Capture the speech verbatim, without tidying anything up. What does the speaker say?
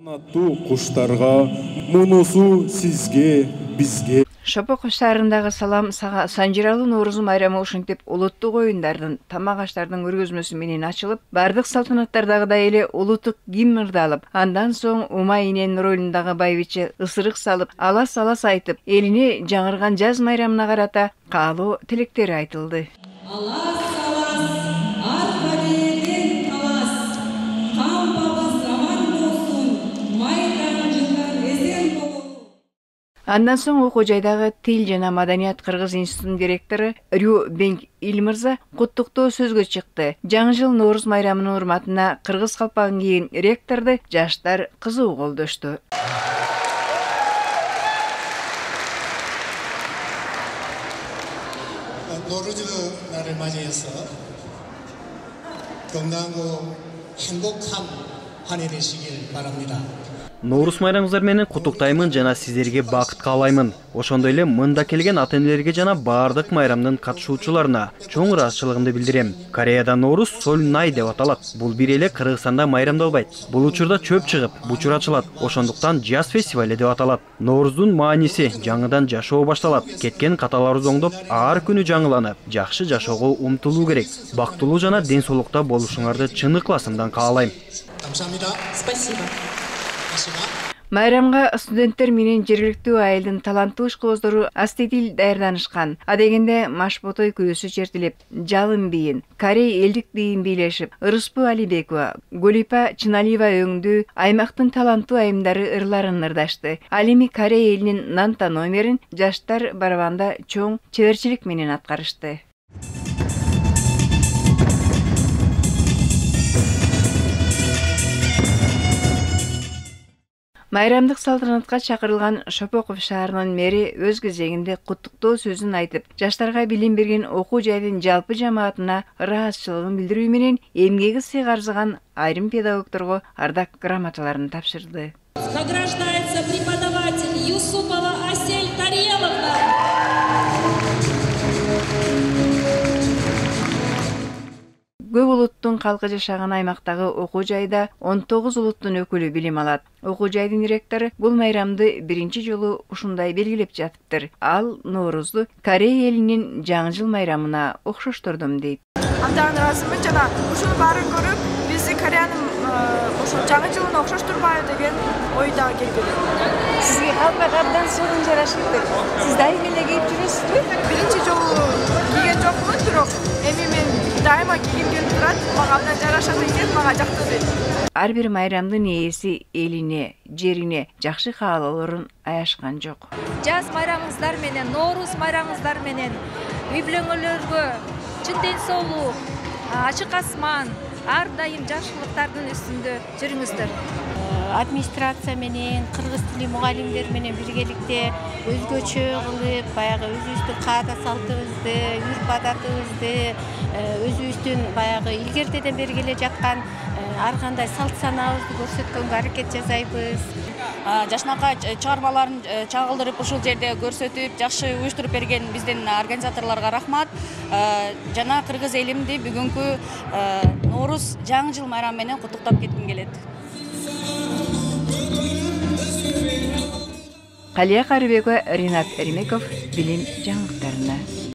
Канаттуу куштарга, мунусу сизге, бизге. Шопоков шаарындагы салам сага санжиралуу Нооруз майрамы ушинтип улуттук оюндардын, тамак аштардын көргөзмөсү менен ачылып, бардык салтанаттардагыдай эле улуттук гимн ырдалып, андан соң Ума эненин ролундагы байбиче ысырык салып, алас-алас айтып, элине жаңырган жаз майрамына карата каалоо тилектери айтылды. Андан соң окуу жайдагы Тил жана маданият кыргыз институтунун директору Рю Бенг Илмырза куттуктоо сөзгө чыкты. Жаңы жыл Нооруз майрамынын урматына кыргыз калпагын кийген ректорду жаштар кызуу колдошту. 노루즈 날을 맞이해서 건강하고 행복한 한 해 되시길 바랍니다. Нооруз майрамыңыздар менен куттуктаймын жана сиздерге бакыт каалаймын. Ошондой эле мында келген ата-энелерге жана бардык майрамдын катышуучуларына чоң ыраазычылыгымды билдирем. Кореяда Нооруз Соль Най деп аталат. Бул бир эле Кыргызстанда майрамдалбайт. Бул учурда чөп чыгып, бучур ачылат. Ошондуктан жаз фестивали деп аталат. Нооруздун мааниси жаңыдан жашоо башталат. Кеткен каталарыбыз оңдоп, ар күнү жаңыланып, жакшы жашоого умтулуу керек. Бактылуу жана ден соолукта болушуңарды чын ыкласымдан каалайм. Спасибо. Майрамга студенттер менен жергиликтүү айылдын таланттуу ишкөбөздөрү астедил даярданышкан. Адегенде Машботой күрөсү чертилип, Жалын бийин, Корей элдик бийин бийлешип, Ырыспу Алибекова, Голипа Чыналиева өңдүү аймактын таланттуу айымдары ырларын ырдашты. Ал эми Корей элинин Нанта номерин жаштар барабанда чоң чеберчилик менен аткарышты. Майрамдык салтанатка чакырылган Шопоков шаарынын мэри өз кезегинде куттуктоо сөзүн айтып, жаштарга билим берген окуу жайдын жалпы жамаатына ыраазычылыгын билдирүү менен эмгеги сый арзыган айрым педагогдорго ардак грамоталарын тапшырды. Награждается преподаватель Юсупова Асель Тареловна. Көп улуттун калкы жашаган аймактагы окуу жайда он тогуз улуттун өкүлү билим алат. Окуу жайдын ректору бул майрамды биринчи жолу ушундай белгилеп жатыптыр. Ал Ноорузду Корей элинин жаңы жыл майрамына окшоштурдум дейт. Андан ыраазымын жана ушунун баарын көрүп, биз Кореянын ошо жаңы жылын окшоштурбайбы деген ойда келди. Сизге калпак абдан сонун жарашыптыр. Сиз дайыма эле кийип жүрөсүзбү? Биринчи жолу кийген жокмун, бирок эми мен дайыма кийгим келип турат, мага абдан жарашат экен, мага жактуу дейт. Ар бир майрамдын ээси элине, жерине жакшы каалоолорун аяшкан жок. Жаз майрамыңыздар менен, Нооруз майрамыңыздар менен үй бүлөңөргө чын ден соолук, ачык асман, ар дайым жакшылыктардын үстүндө жүрүңүздөр. Администрация менен, кыргыз тили мугалимдер менен биргеликте өзгөчө кылып, баягы өзүбүздүн каада салтыбызды, үрп адатыбызды, өзүбүздүн баягы илгертеден бери келе жаткан ар кандай салт санаабызды көрсөткөнгө аракет жасайбыз. Жашынакай чыгармаларын чагылдырып, ушул жерде көрсөтүп, жакшы уюштуруп берген биздин организаторлорго рахмат. Жана кыргыз элимди бүгүнкү Нооруз жаңы жыл майрамы менен куттуктап кетким келет. Калия Карыбекова, Ринат Эримеков, билим жаңылыктарына.